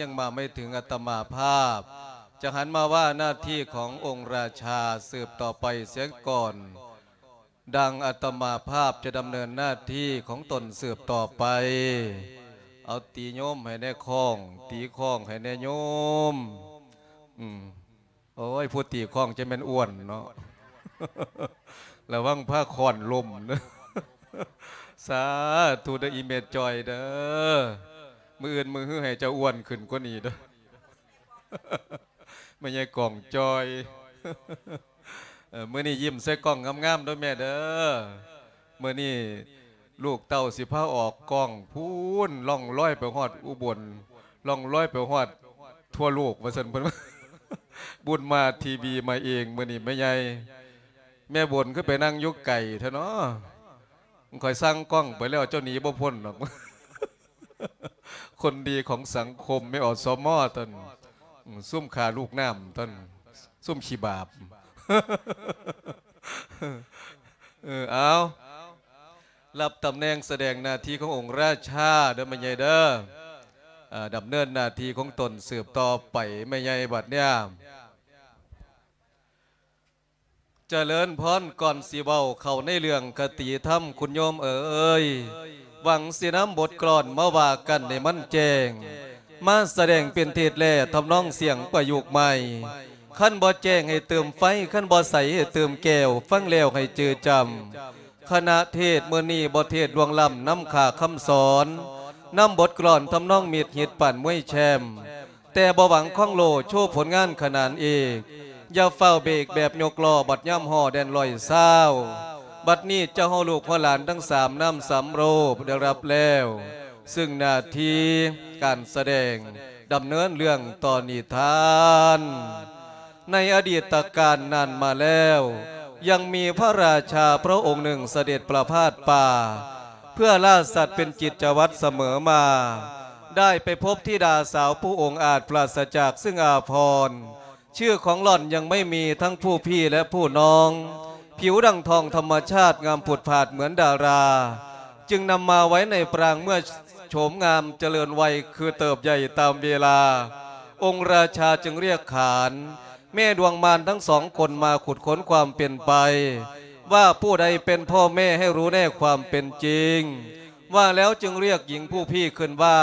ຍັງມາໄມ່ເຖິງອາດຕະມາພາບ ຈະຫັນມາວ່າໜ້າທີ່ຂອງອົງລາຊາສືບຕໍ່ໄປເສຍກ່ອນ. ດັ່ງອາດຕະມາພາບຈະດຳເນີນໜ້າທີ່ຂອງຕົນສືບຕໍ່ໄປ. ເອົາຕີໂຍມໃຫ້ແດ່ຂ້ອງ ຕີຂ້ອງໃຫ້ແດ່ໂຍມ. ອືມ. ໂອ້ຍ ຜູ້ຕີຄ້ອງຈະແມ່ນອ້ວນເນາະ ລະວັງພາຄ້ອນລົ້ມເດີ. ສາທຸເດີອີແມ່ຈ່ອຍເດີ ມື້ອື່ນມື້ຮືໃຫ້ເຈົ້າອ້ວນຂຶ້ນກວ່ານີ້ເດີ ແມ່ໃຫຍ່ກ້ອງຈ່ອຍ. ເອີ ມື້ນີ້ຍິ້ມໃສ່ກ້ອງງາມໆເດີແມ່ເດີ. ມື້ນີ້ລູກເຕົ້າຊິພາອອກກ້ອງ ພຸ້ນລ່ອງລອຍໄປຮອດອຸບົນ ລ່ອງລອຍໄປຮອດທົ່ວໂລກວ່າຊັ້ນເພິ່ນ. ບຸນມາທີວີມາເອງ ມື້ນີ້ແມ່ໃຫຍ່ ແມ່ບົນຄືໄປນັ່ງຢູ່ໄກແທ້ເນາະ. ຂ້ອຍສັ່ງກ້ອງໄປແລ້ວ ເຈົ້າໜີບໍ່ພົ້ນດອກ. ຄົນດີຂອງສັງຄົມ ແມ່ ອສມ ຕົນ ອືມ ຊຸມຂ້າລູກນ້ຳຕົນ ຊຸມຂີ້ບາບ. ເອີ ເອົາ ຮັບຕຳແໜ່ງສະແດງໜ້າທີ່ຂອງອົງລາຊາເດີແມ່ໃຫຍ່ເດີ. ເອີ ດຳເນີນໜ້າທີ່ຂອງຕົນສືບຕໍ່ໄປແມ່ໃຫຍ່ບັດເນີ້ຍ. ຈະເລີນພອນ ກ່ອນຊິເວົ້າເຂົ້າໃນເລື່ອງຄະຕິທຳ ຄຸນໂຍມເອີຍ ຫວັງຊິນຳບົດກລອນມາວ່າກັນໃຫ້ມັນແຈ້ງ ມາສະແດງເປັນເທດແລະທຳນອງສຽງປະຍຸກໃໝ່. ຄັນບໍ່ແຈ້ງໃຫ້ເຕີມໄຟ ຄັນບໍ່ໃສໃຫ້ເຕີມແກ້ວ ຟັງແລ້ວໃຫ້ຈື່ຈຳ. ຄະນະເທດມື້ນີ້ບໍ່ເທດລ່ວງລ້ຳນຳຄ່າຄຳສອນ ນຳບົດກລອນທຳນອງມິດຮິດປານມວຍແຊມ ແຕ່ບໍ່ຫວັງຄອງໂລ ໂຊຜົນງານຂະໜານເອກ ຢ່າຟ້າວເບກແບບຍົກລໍ້ ບັດຍາມຫໍ່ແດນຮ້ອຍຊາວ. ບັດນີ້ເຈົ້າເຮົາລູກເຮົາຫຼານທັງສາມນ້ຳສາມໂລໄດ້ຮັບແລ້ວ ຊຶ່ງໜ້າທີ່ການສະແດງ ດຳເນີນເລື່ອງຕໍ່ນິທານ. ໃນອະດີດຕະການນານມາແລ້ວ ຍັງມີພະລາຊາພະອົງໜຶ່ງສະເດັດປະພາດປ່າ ເພື່ອລ່າສັດເປັນກິດຈະວັດສະເໝີມາ ໄດ້ໄປພົບທິດາສາວຜູ້ອົງອາດປາສະຈາກຊຶ່ງອາພອນ ຊື່ຂອງຫຼ່ອນຍັງໄມ່ມີທັງຜູ້ພີ່ ແລະ ຜູ້ນ້ອງ ຜິວດັ່ງທອງທຳມະຊາດງາມຜຸດຜາດເໝືອນດາລາ ຈຶ່ງນຳມາໄວ້ໃນປາງເມື່ອໂສມງາມຈະເລີນໄວຄືເຕີບໃຫຍ່ຕາມເວລາ ອົງລາຊາຈຶ່ງລຽກຂານແມ່ດວງມານທັງສອງຄົນມາຂຸດຄົ້ນຄວາມເປັນໄປ ວ່າຜູ້ໃດເປັນພໍ່ແມ່ໃຫ້ຮູ້ແນວຄວາມເປັນຈິງ. ວ່າແລ້ວຈຶ່ງລຽກຍິງຜູ້ພີ່ຂຶ້ນວ່າ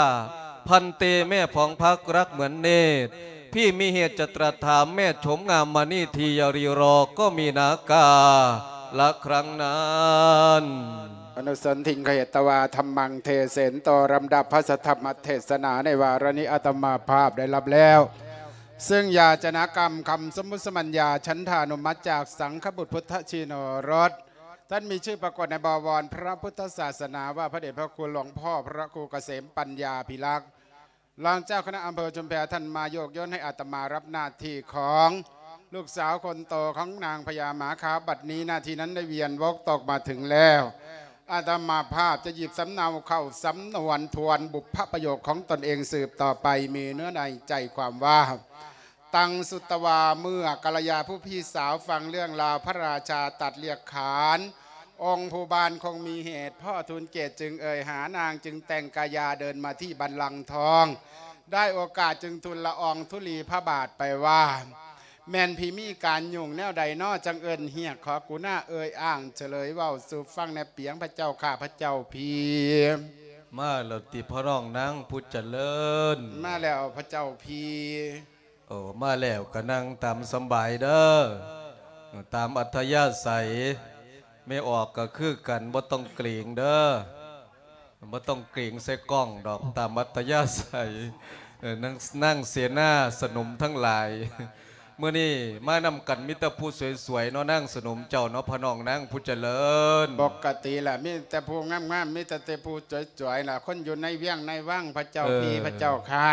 ພັນເຕ ແມ່ຜອງພັກລັກເໝືອນເນດ ພີ່ມີເຫດຈະຕຣັດຖາມແມ່ໂສມງາມມະນີທີ່ຢ່າຣີລໍກໍມີນາກາລະຄັ້ງນັ້ນ. ອະນຸສັນທິງຄະເຫຕະວາ ທຳມັງເທເສນໂຕ ລຳດັບພະສັດທຳມະເທດສະໜາໃນວາລະນີ້ ອາດຕະມາພາບໄດ້ຮັບແລ້ວ ຊຶ່ງຢາຈະນະກຳຄຳສົມມຸດສະມັນຍາ ສັນທານຸມັດຈາກສັງຄະບຸດພຸດທະຊີໂນລົດ ທ່ານມີຊື່ປາກົດໃນບໍວອນພະພຸດທະສາສະໜາວ່າ ພະເດດພະຄຸນຫຼວງພໍ່ພະຄູກະເສມປັນຍາພິລັກ ລອງເຈົ້າຄະນະອຳເພີຊຸມແພ ທ່ານມາໂຍກໂຍນໃຫ້ອາດຕະມາຮັບໜ້າທີ່ຂອງລູກສາວຄົນໂຕຂອງນາງພະຍາໝາຂາວ. ບັດນີ້ໜ້າທີ່ນັ້ນໄດ້ວຽນວົກຕົກມາເຖິງແລ້ວ ອາດຕະມາພາບຈະຫຍິບສຳເນົາເຂົ້າສຳນວນທວນບຸບພະປະໂຫຍກຂອງຕົນເອງສືບຕໍ່ໄປ ມີເນື້ອໃນໃຈຄວາມວ່າ ຕັງສຸດຕະວາ ເມື່ອກັນລະຍາຜູ້ພີ່ສາວຟັງເລື່ອງລາວພະລາຊາຕັດລຽກຂານ ອົງຜູ້ບ້ານຄົງມີເຫດ ພໍ່ທູນເກດຈຶ່ງເອີ່ຍຫານາງ ຈຶ່ງແຕ່ງກາຍາເດີນມາທີ່ບັນລັງທອງ ໄດ້ໂອກາດຈຶ່ງທູນລະອອງທຸລີພະບາດໄປວ່າ ແມ່ນພີມີການຫຍຸ້ງແນວໃດນໍ ຈັ່ງເອີ້ນຮຽກ ຂໍກຸນາເອີ່ຍອ້າງສະເຫຼີຍເວົ້າສູ່ຟັງແດ່ປຽງ ພະເຈົ້າຂ້າພະເຈົ້າພີ. ມາແລ້ວຕິພະນ້ອງນາງຜູ້ຈະເລີນ? ມາແລ້ວພະເຈົ້າພີ. ໂອ້ ມາແລ້ວກໍນັ່ງຕາມສຳບາຍເດີ ຕາມອັດທະຍາໄສ ແມ່ອອກກໍຄືກັນ ບໍ່ຕ້ອງເກງເດີ ບໍ່ຕ້ອງເກງໃສ່ກ້ອງດອກ ຕາມອັດທະຍາໄສ. ເອີ ນາງ ນາງເສນາສະໜົມທັງຫຼາຍ ມື້ນີ້ມານຳກັນມີແຕ່ຜູ້ສວຍໆເນາະ ນາງສະໜົມເຈົ້າເນາະ ພະນ້ອງນາງຜູ້ຈະເລີນ. ປົກກະຕິລະ ມີແຕ່ຜູ້ງາມໆ ມີແຕ່ ແຕ່ຜູ້ສວຍໆລະ ຄົນຢູ່ໃນວຽງໃນວັງ ພະເຈົ້າພີ ເອີ ພະເຈົ້າຂ້າ.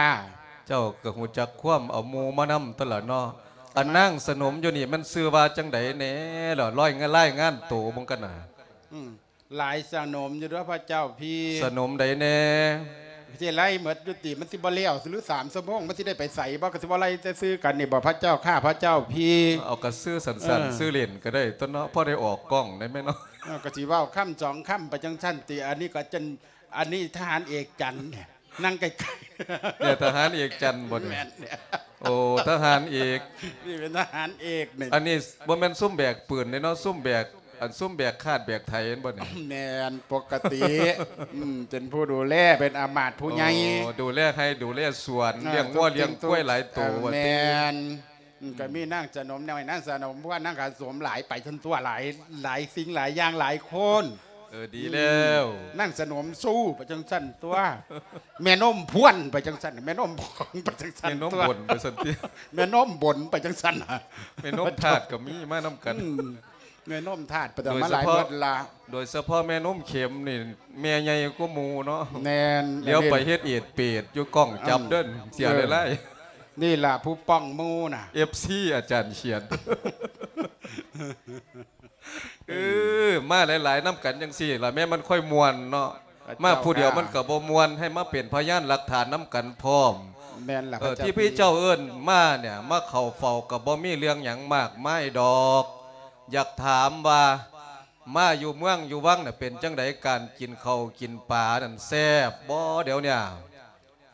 ເຈົ້າກໍຮູ້ຈັກຄວາມເອົາໝູ່ມານຳຕົວລະເນາະ. ອັນນາງສະໜົມຢູ່ນີ້ມັນຊື່ວ່າຈັ່ງໃດແດ່ລະ? ລອຍງານ ລາຍງານໂຕເບິ່ງກັນນະ. ອືມ ຫຼາຍສະໜົມຢູ່ເດີພະເຈົ້າພີ. ສະໜົມໃດແດ່? ຊິໄລ່ໝົດຢູ່ຕິ? ມັນຊິບໍ່ແລ້ວຫຼື ສາມຊົ່ວໂມງ ມັນຊິໄດ້ໄປໃສບໍ່? ກໍຊິບໍ່ໄລ່ແຕ່ຊື່ກັນນີ້ບໍ່ ພະເຈົ້າຂ້າ ພະເຈົ້າພີ? ເອົາກະຊື່ສັ້ນໆ ເອີ ຊື່ຫຼິ້ນກໍໄດ້ຕົວເນາະ ພໍໄດ້ອອກກ້ອງໄດ້ແມ່ເນາະ. ເອີ ກໍຊິເວົ້າຄຳສອງຄຳໄປຈັ່ງຊັ້ນຕິ? ອັນນີ້ກໍຈົນ ອັນນີ້ທະຫານເອກຈັນ. ນັ່ງໃກ້ໆ ແມ່ນທະຫານເອກຈັນບໍ່ນີ້? ແມ່ນແລ້ວ ໂອ້ ທະຫານເອກ ນີ້ເປັນທະຫານເອກນີ້. ອັນນີ້ບໍ່ແມ່ນຊຸມແບກປືນເດ້ເນາະ ຊຸມແບກ ອັນຊຸມແບກຄາດແບກໄຖແມ່ນບໍ່ນີ້? ແມ່ນ ປົກກະຕິ ອືມ ເປັນຜູ້ດູແລ ເປັນອາມາດຜູ້ໃຫຍ່ ໂອ້ ດູແລໄຮ່ດູແລສວນ ເອີ ລ້ຽງງົວລ້ຽງຄວາຍຫຼາຍໂຕ ເອີ ວ່າຕິ ແມ່ນ ອືມ ກໍມີນາງສະໜົມນ້ອຍ ນາງສະໜົມພວນ ນາງຂະສົມຫຼາຍໄປຊັ້ນຕົວະ ຫຼາຍ ຫຼາຍສິ່ງຫຼາຍຢ່າງຫຼາຍຄົນ. ເອີ ດີແລ້ວ ອືມ ນາງສະໜົມຊູໄປຈັ່ງຊັ້ນຕົວະ ແມ່ນົມພວນໄປຈັ່ງຊັ້ນ ແມ່ນົມພອງໄປຈັ່ງຊັ້ນ ແມ່ນົມບົນໄປຊັ້ນຕິ ແມ່ນົມບົນໄປຈັ່ງຊັ້ນ ແມ່ນົມທາດກໍມີມານຳກັນ ອືມ ແມ່ນົມທາດໄປແຕ່ມາຫຼາຍໝົດລະ ໂດຍສະເພາະແມ່ນົມເຂັມນີ້ ແມ່ໃຫຍ່ກວ່າໝູ່ເນາະ ແມ່ນ ຫຼຽວໄປເຮັດເອດເປດຢູ່ກ້ອງຈັບເດີ ອືມ ເສຍຫຼາຍໆ ນີ້ລະຜູ້ປ້ອງໝູ່ນະ ເອັຟຊີ ອາຈານຂຽນ ເອີ ມາຫຼາຍໆນຳກັນຈັ່ງຊີ້ລະ ແມ່ນມັນຄ່ອຍມ່ວນເນາະ ມາຜູ້ດຽວມັນກໍບໍ່ມ່ວນ ໃຫ້ມາເປັນພະຍານຫຼັກຖານນຳກັນພ້ອມ ແມ່ນລະ ເອີ ພະເຈົ້າ ທີ່ພະເຈົ້າເອີ້ນມາເນຍ ມາເຂົ້າເຝົ້າກໍບໍ່ມີເລື່ອງຫຍັງມາກມາຍດອກ ຢາກຖາມວ່າ ມາຢູ່ເມືອງຢູ່ວັງນະ ເປັນຈັ່ງໃດ ການກິນເຂົ້າກິນປານັ້ນແຊບບໍ່ດຽວເນຍ?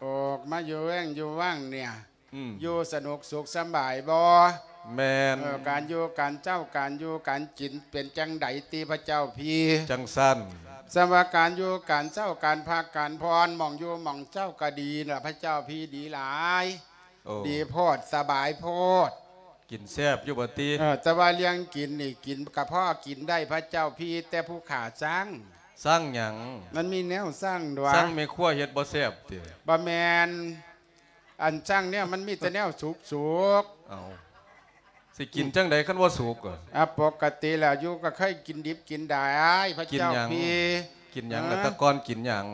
ອອກມາຢູ່ແວງຢູ່ວັງເນຍ ອືມ ຢູ່ສະໜຸກສຸກສະບາຍບໍ່? ແມ່ນ ເອີ ການຢູ່ການເຊົາ ການຢູ່ການກິນເປັນຈັ່ງໃດຕິພະເຈົ້າພີ? ຈັ່ງຊັ້ນ ສຳວ່າການຢູ່ການເຊົາ ການພັກການຜ່ອນ ໝ່ອງຢູ່ໝ່ອງເຊົາກໍດີລະພະເຈົ້າພີ ດີຫຼາຍ ໂອ້ ດີໂພດ ສະບາຍໂພດ ກິນແຊບຢູ່ບໍ່ຕິ? ເອີ ແຕ່ວ່າເລື່ອງກິນນີ້ ກິນກະພໍກິນໄດ້ພະເຈົ້າພີ ແຕ່ຜູ້ຂ້າຊັງ ຊັງຫຍັງ? ມັນມີແນວຊັງດວະ ຊັງແມ່ຄົວເຮັດບໍ່ແຊບຕິ? ບໍ່ແມ່ນ ອັນຊັງແນວມັນມີແຕ່ແນວສຸກໆ ເອົ້າ ຊິກິນຈັ່ງໃດຄັນບໍ່ສຸກ? ອາ ປົກກະຕິແລ້ວຢູ່ກໍເຄີຍກິນດິບກິນດາຍພະເຈົ້າພີ ກິນຫຍັງ? ກິນຫຍັງລະ ເອີ ແຕ່ກ່ອນກິນຫຍັງ?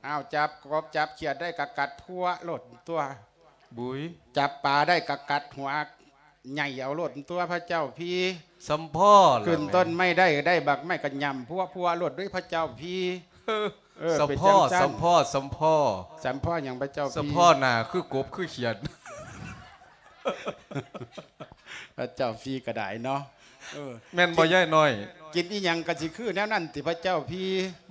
ອ້າວ ຈັບກົບຈັບຂຽດໄດ້ກໍກັດພົວໂລດຕົວະ ບຸ້ຍ ຈັບປາໄດ້ກໍກັດຫົວ ໃຫຍ່ເອົາໂລດຕົວະພະເຈົ້າພີ ສຳພໍລະ ຂຶ້ນຕົ້ນໄມ້ໄດ້ ໄດ້ບັກໄມ້ກໍຫຍ້ຳພົວໆໂລດເດ້ພະເຈົ້າພີ ເອີ ສຳພໍ ເປັນຈັ່ງຊັ້ນ ສຳພໍ ສຳພໍ ສຳພໍຫຍັງພະເຈົ້າພີ? ສຳພໍໜ້າຄືກົບຄືຂຽດ ພະເຈົ້າພີກໍໄດ້ເນາະ ເອີ ແມ່ນບໍ່ ກິນ ຍາຍນ້ອຍ? ກິນອີ່ຫຍັງກໍຊິຄືແນວນັ້ນຕິພະເຈົ້າພີ?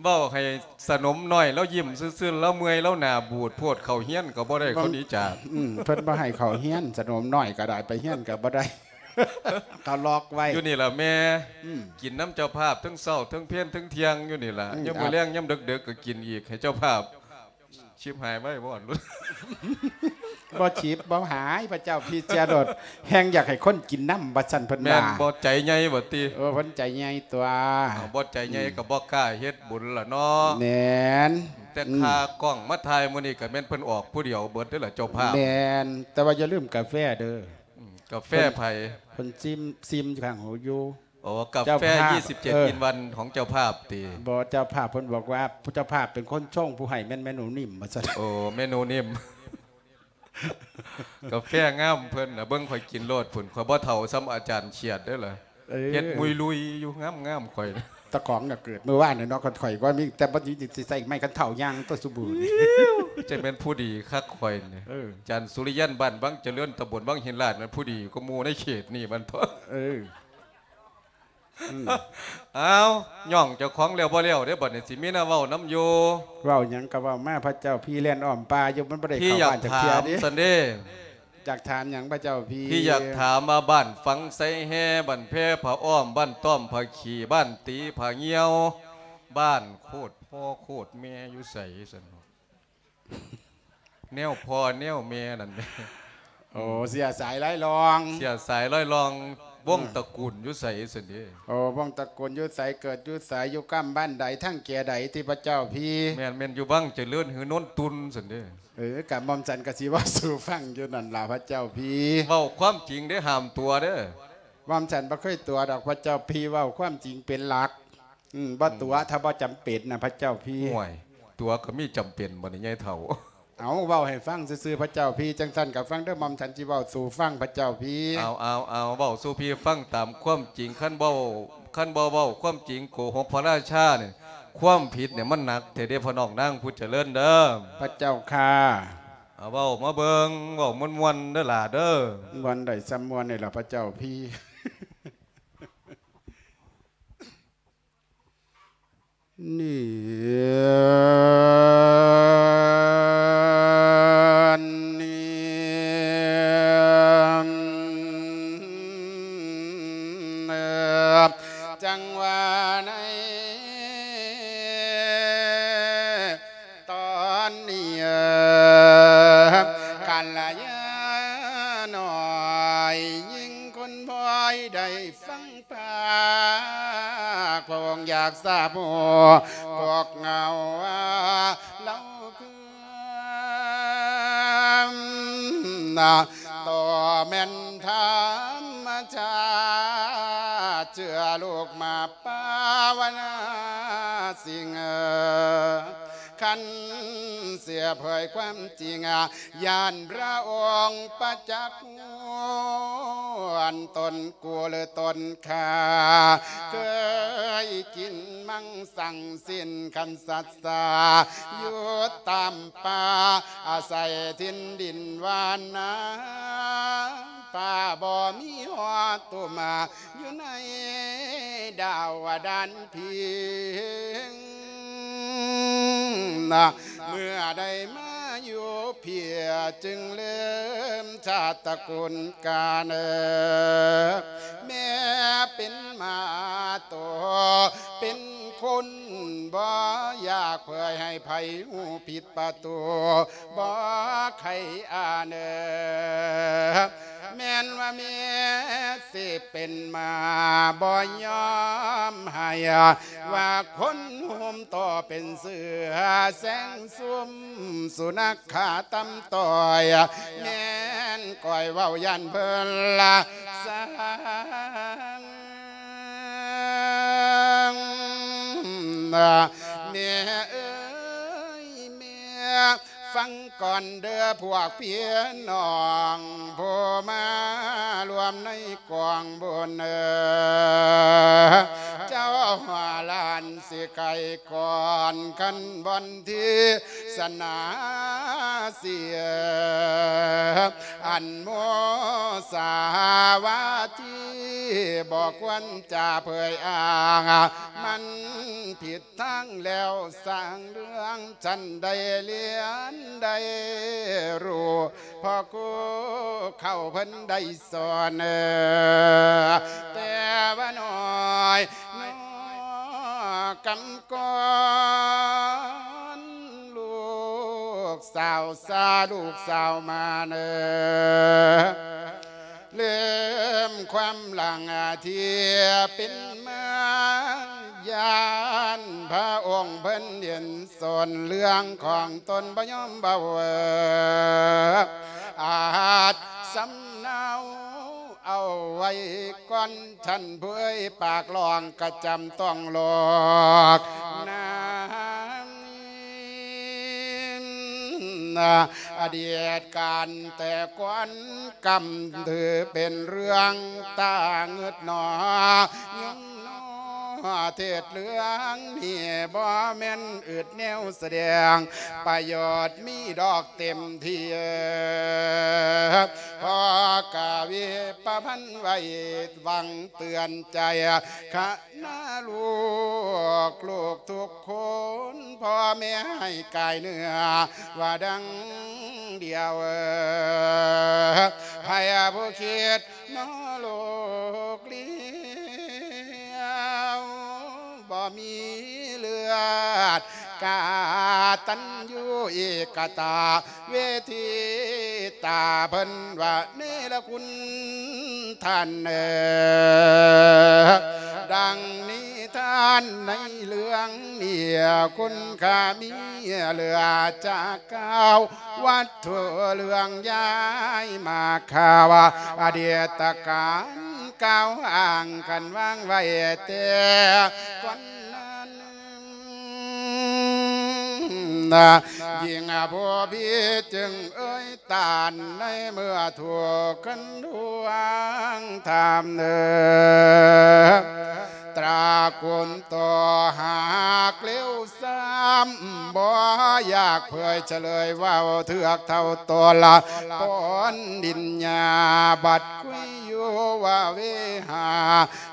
ເວົ້າໃຫ້ສະໜົມນ້ອຍລາວຍິ້ມຊື່ໆ ລາວເມື່ອຍ ລາວໜ້າບູດໂພດ ເຂົ້າຮຽນກໍບໍ່ໄດ້ ເຂົາໜີຈາກ ອືມ ເພິ່ນບໍ່ໃຫ້ເຂົ້າຮຽນ ສະໜົມນ້ອຍກໍໄດ້ ໄປຮຽນກໍບໍ່ໄດ້ ເຂົາລັອກໄວ້ ຢູ່ນີ້ລະແມ່ ອືມ ກິນນຳເຈົ້າພາບ ເທິງເຊົ້າເທິງເພນເທິງທ່ຽງຢູ່ນີ້ລະ ອືມ ຍາມມື້ແລງ ຍາມເດິກໆກໍກິນອີກ ໃຫ້ເຈົ້າພາບ ຊິບຫາຍໄວ້ບໍ່? ບໍ່ຊິບບໍ່ຫາຍ ພະເຈົ້າພີເສຍໂລດ ແຮ່ງຢາກໃຫ້ຄົນກິນນຳວ່າຊັ້ນເພິ່ນວ່າ ແມ່ນບໍ່? ໃຈໃຫຍ່ບໍ່ຕິ? ເອີ ເພິ່ນໃຈໃຫຍ່ຕົວະ ເອົາ ບໍ່ໃຈໃຫຍ່ ອືມ ກໍບໍ່ກ້າເຮັດບຸນລະເນາະ ແມ່ນ ແຕ່ ອືມ ຄ່າກ້ອງມາຖ່າຍມື້ນີ້ກໍແມ່ນເພິ່ນອອກຜູ້ດຽວເບິດເດ້ລະເຈົ້າພາບ ແມ່ນ ແຕ່ວ່າຢ່າລືມກາແຟເດີ ອືມ ກາແຟໃຜ? ເພິ່ນ ເພິ່ນຊິມ ຊິມຂ້າງຫູຢູ່ ໂອ້ ກາແຟ ເຈົ້າພາບ ຍີ່ສິບເຈັດ ເອີ ອິນວັນຂອງເຈົ້າພາບຕິ? ບໍ່ ເຈົ້າພາບເພິ່ນບອກວ່າ ເຈົ້າພາບເປັນຄົນຊົງ ຜູ້ໃຫ້ແມ່ນແມ່ໜູນິ້ມ ວ່າຊັ້ນ ໂອ້ ແມ່ໜູນິ້ມ ກາແຟງາມເພິ່ນນະ ເບິ່ງຂ້ອຍກິນໂລດພຸ້ນ ຂ້ອຍບໍ່ເຖົ້າສ່ຳອາຈານຂຽດເດ້ລະ ເອີ ເຮັດມຸຍລຸຍຢູ່ ງາມໆ ຂ້ອຍ ຕາຂອງນະເກີດມື້ວານນີ້ເນາະ ຂ້ອຍວ່າມີ ແຕ່ບັດນີ້ຊິໃສ່ໄມ້ຄັນເຖົ້າຍ່າງຕົວະຊຸມື້ນີ້ ຈັ່ງແມ່ນຜູ້ດີຄັກຂ້ອຍນີ້ ເອີ ອາຈານສຸລິຍັນ ບ້ານວັງຈະເລີນ ຕຳບົນວັງຫີນລາດ ແມ່ນຜູ້ດີກວ່າໝູ່ໃນເຂດນີ້ມັນ ເອີ ອືມ ອ້າວ ຍ້ອງເຈົ້າຂອງແລ້ວບໍ່ແລ້ວເດ້ ບັດນີ້ຊິມີແນວເວົ້ານຳຢູ່ ເວົ້າຫຍັງກໍເວົ້າມາ ພະເຈົ້າພີແລ່ນອ້ອມປ່າຢູ່ ມັນບໍ່ໄດ້ເຂົ້າບ້ານຈັກເທື່ອເດ້ ພີ່ຢາກຖາມຊັ້ນເດ້ ຢາກຖາມຫຍັງພະເຈົ້າພີ? ພີ່ຢາກຖາມວ່າບ້ານຝັ່ງໄຊແຮ່ ບ້ານແພຜາອ້ອມ ບ້ານຕ້ອມຜາຂີ້ ບ້ານຕີຜາຍ່ຽວ ບ້ານໂຄດພໍ່ໂຄດແມ່ຢູ່ໃສຊັ້ນ ແນວພໍ່ແນວແມ່ນັ້ນແຫຼະ ໂອ້ ເຊື້ອສາຍລາຍລອງ ເຊື້ອສາຍລາຍລອງ ວົງ ເອີ ຕະກູນຢູ່ໃສຊັ້ນເດ? ໂອ້ ວົງຕະກູນຢູ່ໃສ ເກີດຢູ່ໃສ ຢູ່ກ້ຳບ້ານໃດ ທາງແກໃດຕິພະເຈົ້າພີ? ແມ່ນ ແມ່ນຢູ່ວັງຈະເລີນ ຫຼື ໂນນຕຸນຊັ້ນເດ? ເອີ ກະໝ່ອມສັນກະຊິເວົ້າສູ່ຟັງຢູ່ນັ້ນລະພະເຈົ້າພີ ເວົ້າຄວາມຈິງເດ້ ຫ້າມຕົວະເດີ ໝ່ອມສັນບໍ່ເຄີຍຕົວະດອກພະເຈົ້າພີ ເວົ້າຄວາມຈິງເປັນຫຼັກ. ອືມ ບໍ່ຕົວະ ອືມ ຖ້າບໍ່ຈຳເປັນນະ ພະເຈົ້າພີ. ໂອ້ຍ ຕົວະກໍມີຈຳເປັນບໍ່ນີ້ ຍາຍເຖົ້າ? ເອົາ ເວົ້າໃຫ້ຟັງຊື່ໆ ພະເຈົ້າພີ. ຈັ່ງຊັ້ນກໍຟັງເດີ ໝ່ອມສັນຊິເວົ້າສູ່ຟັງ ພະເຈົ້າພີ. ເອົາ ເອົາ ເອົາ ເວົ້າສູ່ພີ່ຟັງຕາມຄວາມຈິງ. ຄັນເວົ້າ ຄັນບໍ່ເວົ້າຄວາມຈິງ ໂກຫົກພະລາຊານີ້ ຄວາມຜິດນີ້ມັນໜັກແທ້ເດ້ ພໍ່ນ້ອງນາງຜູ້ຈະເລີນເດີ. ພະເຈົ້າຂ້າ. ເອົາ ເວົ້າມາເບິ່ງ ເວົ້າມ່ວນໆ ເດີຫຼ້າເດີ. ມ່ວນໄດ້ສ່ຳມ່ວນນີ້ລະ ພະເຈົ້າພີ. ນີ້ ນີ້ ຈັງຫວະໃນຕອນນີ້ ກັນລະຍານ້ອຍຍິງຄົນພອຍໄດ້ ຟັງປາກພະອົງຢາກຊາບຮູ້ພວກເງົາວ່າເລົ່າຄືນະ ໂຕແມ່ນທຳມະຊາດ ເຊື່ອລູກມາປາວະນາສິ່ງ ຄັນເສຍເຜີຍຄວາມຈິງ ຢ້ານພະອົງປະຈັກ ອັນຕົນກູຫຼືຕົນຂ້າ ເຄີຍກິນມັງສັງສິ້ນຄັນສັດສາ ຢູ່ຕາມປ່າ ອາໄສຖິ່ນດິນຫວານນາ ປ່າບໍ່ມີຮອດຕຸມ ຢູ່ໃນດາວດານພິງ ນະ ເມື່ອໄດ້ມາຢູ່ພີ້ ຈຶ່ງເລີ່ມຊາດຕະກູນການ ແມ່ເປັນໝາໂຕເປັນຄົນ ບໍ່ຢາກເຜີຍໃຫ້ໃຜຮູ້ຜິດປະຕູ ບໍ່ໃຄ່ອ່ານ ແມ່ນວ່າແມ່ຊິເປັນໝາ ບໍ່ຍອມໃຫ້ວ່າຄົນຫຸ້ມຕໍ່ເປັນເສືອ ແສງຊຸມສຸນັກຂາຕຳຕ້ອຍ ແມ່ນກ້ອຍເວົ້າຢ້ານເພິ່ນລະສັງ ແມ່ເອີຍແມ່ ຟັງກ່ອນເດີພວກພີ່ນ້ອງ ຜູ້ມາລວມໃນກອງບຸນ ເຈົ້າວ່າຫຼານຊິໄກກ່ອນ ຄັນບ່ອນທີ່ສະໜາເສຍ ອັນໂມສາວາທີ ບໍ່ຄວນຈະເຜີຍອ້າງ ມັນຜິດ ທັງແລ້ວສ້າງເລື່ອງ ຊັ້ນໄດ້ລຽນໄດ້ຮູ້ ພໍ່ຄູເຂົາເພິ່ນໄດ້ສອນ ແຕ່ວ່ານ້ອຍນ້ອກຳກ່ອນ ລູກສາວຊາລູກສາວມາເນີ ເລີ່ມຄວາມຫຼັງທີ່ເປັນມາ ຢ້ານພະອົງເພິ່ນເຫັນສົນເລື່ອງຂອງຕົນບໍ່ຍອມເວົ້າ ອາດສຳເນົາເອົາໄວ້ກ່ອນ ທ່ານຜູ້ເອີຍ ປາກຮ້ອງກະຈຳຕ້ອງຫຼອກນາ ອະດີດການແຕ່ກ່ອນ ກຳຖືເປັນເລື່ອງຕາງຶດໜໍ ຍມໜໍເທດເລື່ອງນີ້ ບໍ່ແມ່ນອຶດແນວສະແດງ ປະໂຫຍດມີດອກເຕັມທີ່ ພໍກະວິປະພັນໄວ້ ຫວັງເຕືອນໃຈ ຄະນະລູກ ລູກທຸກຄົນ ພໍ່ແມ່ໃຫ້ກາຍເນື້ອວ່າດັ່ງດຽວ ໃຜຜູ້ຄິດນອໂລກລຽວ ບໍ່ມີເລືອດ ກະຕັນຍູເອກະຕາ ເວທີຕາເພິ່ນວ່າເນລະຄຸນທ່ານເອີ ດັ່ງນິທານໃນເລື່ອງນີ້ ຄຸນຄ່າມີເຫຼືອຈາກກ່າວ ວັດຖຸເລື່ອງຍ້າຍມາຂ່າວ ອະດີດຕະການກ່າວອ້າງກັນວາງໄວ້ແຕ່ກ່ອນນັ້ນ ນະ ຍິ່ງຜູ້ພີ່ຈຶ່ງເອີຍຕານໃນເມື່ອຖືກຄັນທວງຖາມເນີ ຕຣາກຸນຕໍ່ຫາກເລວຊ້ຳ ບໍ່ຢາກເຜີຍສະເຫຼີຍເວົ້າເຖືກເທົ່າໂຕລະ ປົນດິນຍາບັດຄຸຍຢູ່ວ່າເວຫາ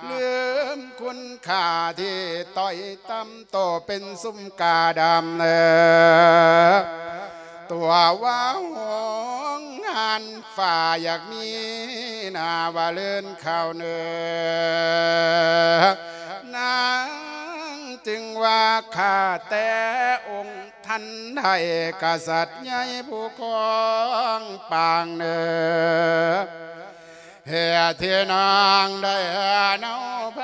ລືມ ຄຸນຄ່າທີ່ຕ້ອຍຕ່ຳ ໂຕເປັນຊຸມກາດຳເອີ ຕົວວ່າໂຮງງານຟ້າ ຢາກມີໜ້າວ່າເລີນຂ່າວເໜີ ນາງຈຶ່ງວ່າ ຂ້າແຕ່ອົງ ທ່ານໄດ້ກະສັດໃຫຍ່ຜູ້ຄອງປາງເນີ ເຫດທີ່ນາງໄດ້ເອົາໄພ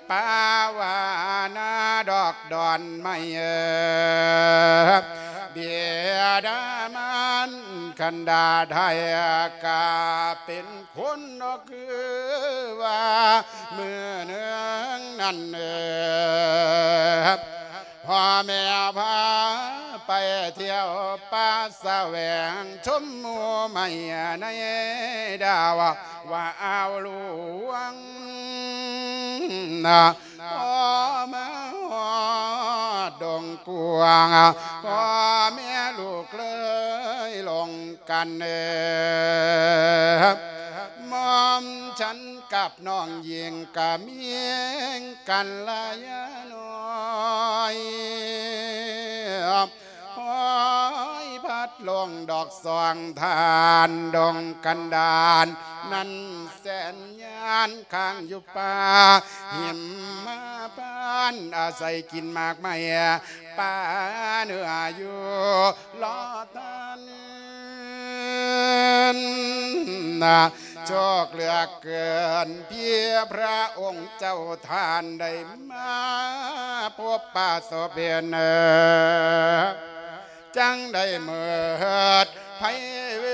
ປາວ່ານາດອກດອນໄມ້ເອີ ບິດາມານຄັນດາໄທກະເປັນ ຄົນນອກຄືວ່າມື້ໜຶ່ງນັ້ນເອີ ພໍ່ແມ່ພາໄປທ່ຽວປ່າສະແຫວງ ຊົມໝູ່ໄມ້ໃນດາວວ່າອ່າວຫຼວງ ພໍມາຮອດດົງກວ້າງ ພໍ່ແມ່ລູກເລີຍລົງກັນເອີ ໝ່ອມສັນກັບນ້ອງຍິງກະມີກັນລະຍານ້ອຍ ຮອຍພັດລົງດອກສອງທ່ານ ດົງກັນດານນັ້ນແສນຍານ ຄ້າງຢູ່ປ່າຫິມມະພານ ອາໄສກິນໝາກໄມ້ ປາເນື້ອຢູ່ລໍທ່ານ ໂຊກເຫຼືອເກີນທີ່ພະອົງເຈົ້າທ່ານໄດ້ມາພົບປະສົບເຫັນ ຈັ່ງໄດ້ເມີດໄພເວ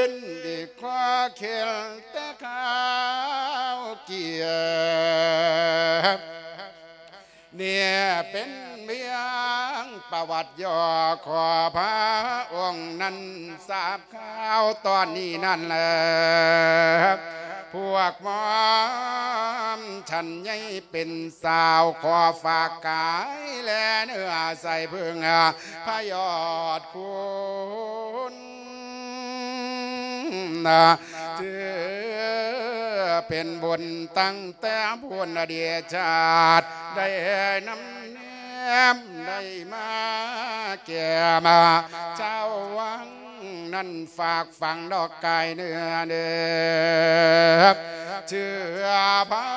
ນ ດີກວ່າເຄັນແຕ່ຄາວເກຍ ນີ້ເປັນພຽງປະຫວັດຫຍໍ້ ຂໍພະອົງນັ້ນຊາບຂ່າວຕອນນີ້ນັ້ນແລະ ພວກໝ່ອມສັນໃຫຍ່ເປັນສາວ ຂໍຝາກກາຍແລະເນື້ອໃສ່ເພິ່ງພະຍອດຄຸນ ຖືເປັນບຸນຕັ້ງແຕ່ພຸ້ນອະດີດຊາດ ໄດ້ນຳແນມໄດ້ມາແກ້ມາ ເຈົ້າວັງນັ້ນຝາກຝັງດອກກາຍເນື້ອເດີ ເຊື່ອພະ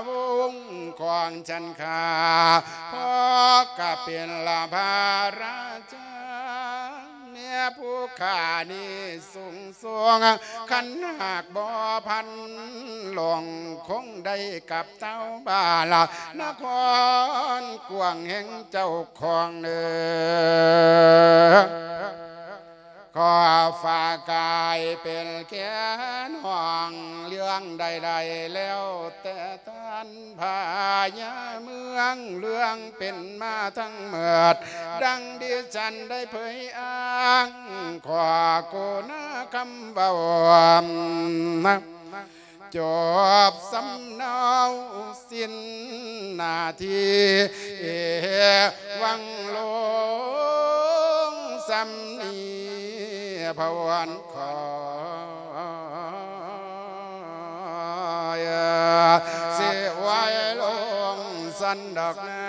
ວົງຂອງສັນຂ້າ ເພາະກະເປັນລະພະລາຊາ ແມ່ຜູ້ຂ້ານີ້ສູງສົ່ງ ຄັນຫາກບໍ່ພັນລົງ ຄົງໄດ້ກັບເຕົ້າບ້ານລະນະຄອນກວ້າງແຫ່ງເຈົ້າຂອງເດີ ຂໍຝາກກາຍເປັນແຄນຫ້ອງ ເລື່ອງໃດໆແລ້ວແຕ່ ທ່ານພະຍາເມືອງ ເລື່ອງເປັນມາທັງໝົດ ດັ່ງດິສັນໄດ້ເຜີຍອ້າງ ຂໍໂກນາຄຳເວົ້າ ຈົບສຳເນົາສິ້ນໜ້າທີ່ ຫວັງລົງສ່ຳນີ້ ພະວອນຂໍ ຊິໄວ້ລົງຊັ້ນດອກນາ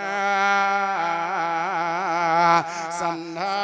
ສັນທາ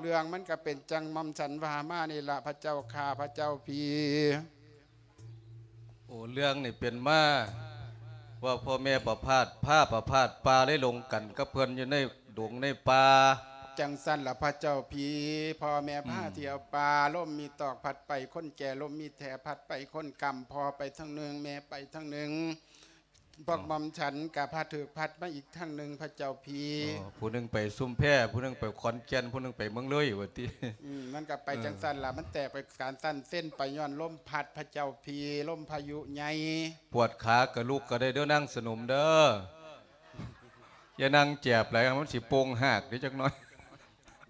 ເລື່ອງມັນກະເປັນຈັ່ງໝ່ອມສັນວ່າມານີ້ລະ ພະເຈົ້າຂ້າ ພະເຈົ້າພີ. ໂອ ເລື່ອງນີ້ເປັນມາວ່າພໍ່ແມ່ປະພາດ ພາປະພາດປ່າໄດ້ລົງກັນກັບເພິ່ນຢູ່ໃນດົງໃນປ່າ. ຈັ່ງຊັ້ນລະພະເຈົ້າພີ ພໍ່ແມ່ພາ ອືມ ທ່ຽວປ່າ ລົມມີຕອກພັດໄປຄົນແກ່ ລົມມີແຖພັດໄປຄົນກຳ ພໍ່ໄປທາງໜຶ່ງ ແມ່ໄປທາງໜຶ່ງ. ພວກໝ່ອມฉันกะพาถืกพัดมาอีกทางหนึ่ง พระเจ้าพี่ เออ ผู้หนึ่งไปชุมแพ ผู้หนึ่งไปขอนแก่น ผู้หนึ่งไปเมืองเลยว่าติ อืม มันกะไป เออ จั่งซั้นล่ะ มันแตกไปการซั้นเส้นไปย้อนลมพัด พระเจ้าพี่ ลมพายุใหญ่ ปวดขากะลุกกะได้เด้อนางสนมเด้อ อย่านั่งแจบหลาย มันสิโป่งหากเด้จักหน่อย